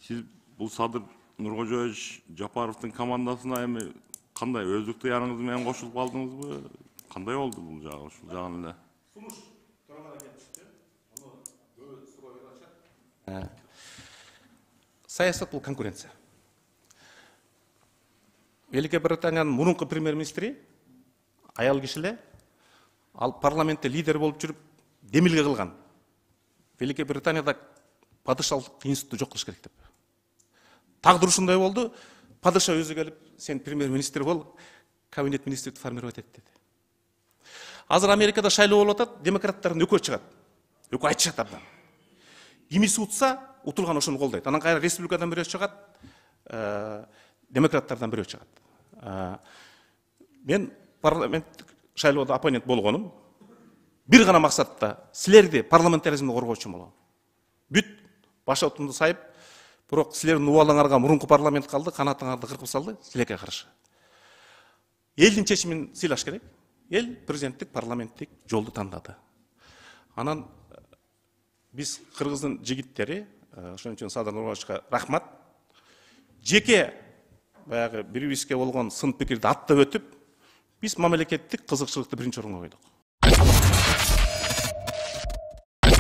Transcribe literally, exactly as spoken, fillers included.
Сиз бул Садыр Нуркожоевич Жапаровдун командасына эми кандай өздүк ыктыярыңыз менен кошулуп калдыңызбы? Кандай болду бул жагы ушул жагын эле? Сунуш турган кетишти. Аны көбү суроо беришет. Саясат бул конкуренция. Великая Британиянын мурунку премьер-министри аял киши эле, ал парламентте лидер болуп жүрүп демилге кылган. Великая Британияда падышалык институту жок кылыш керек деп. Тагдыр ушундай болду. Падыша өзү келип, сен премьер-министр бол, кабинет министрди формировать эт деди. Азыр Америкада шайлоо болуп атат, демократтардын экөө чыгат. Экөө айтышат абдан. Кимиси утса, утулган ошону колдойт. Анан кайра республикадан бирөө чыгат, демократтардан бирөө чыгат. Мен парламенттик шайлоодо оппонент болгонум. Бир гана максатта силерди парламентаризмди коргоочу болом. Бүт башотумду сайып, бирок силердин убалыңарга мурунку парламент калды, канатыңарды кыркып салды, силерге каршы. Элдин чечимин сыйлаш керек. Эл президенттик, парламенттик жолду тандады. Анан биз кыргыздын жигиттери, ошон үчүн Садыр Нуркожоевичке рахмат. Жеке баягы бири-бирибизге болгон сын пикирди аттап өтүп, биз мамлекеттик кызыкчылыкты биринчи орунга койдук.